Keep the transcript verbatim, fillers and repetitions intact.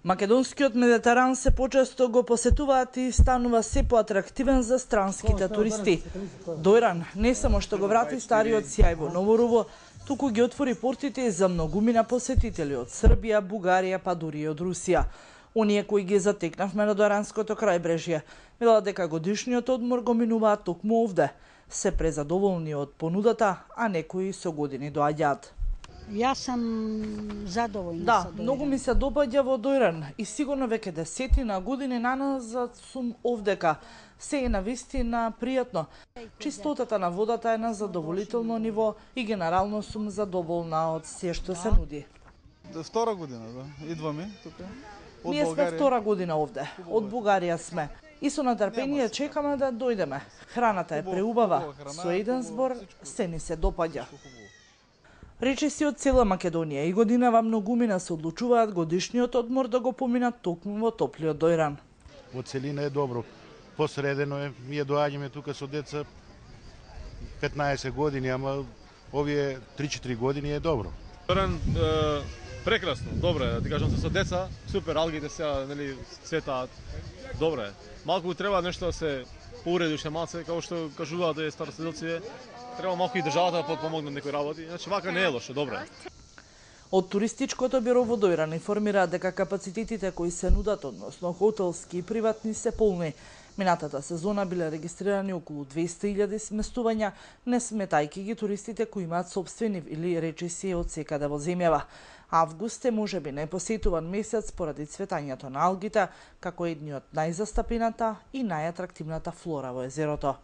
Македонскиот Медитеран се почесто го посетуваат и станува се поатрактивен за странските туристи. Дојран не само што го врати стариот сјај во Новорово, туку ги отвори портите за многумина посетители од Србија, Бугарија, па дури и од Русија. Оние кои ги затекнавме на Дојранското крајбрежје, велат дека годишниот одмор го минуваат токму овде. Се презадоволни од понудата, а некои со години доаѓаат. Јас сам задоволна. Да, многу ми се допаѓа во Дојран и сигурно веќе десетина години наназад сум овдека. Се е навистина пријатно. Чистотата на водата е на задоволително ниво и генерално сум задоволна од се што се нуди. Втора година, да, идваме тука. Од Ние сме втора година овде. Од Бугарија сме. И со натрпение чекаме да дојдеме. Храната е преубава. Со еден збор се ни се допаѓа. Речиси од цела Македонија и годинава многумина се одлучуваат годишниот одмор да го поминат токму во топлиот Дојран. Во целина е добро. Посредено е, ние доаѓаме тука со деца петнаесет години, ама овие три-четири години е добро. Дојран е, прекрасно, добро е, да ти кажам се со деца, супер, алгите сега, нели, цветаат, добро е. Малку треба нешто да се поуреди уште малце, како што кажуваат да е староседелци, треба малку и државата да помогне некои работи, значи вака не е лошо, добро е. Од туристичкото биро во Дојран информираат дека капацитетите кои се нудат, односно хотелски и приватни, се полни. Минатата сезона биле регистрирани околу двесте илјади сместувања, не сметајки ги туристите кои имаат сопствени или речиси од секаде во земјава. Август е можеби најпосетуван месец поради цветањето на алгите, како едни од најзастапената и најатрактивната флора во езерото.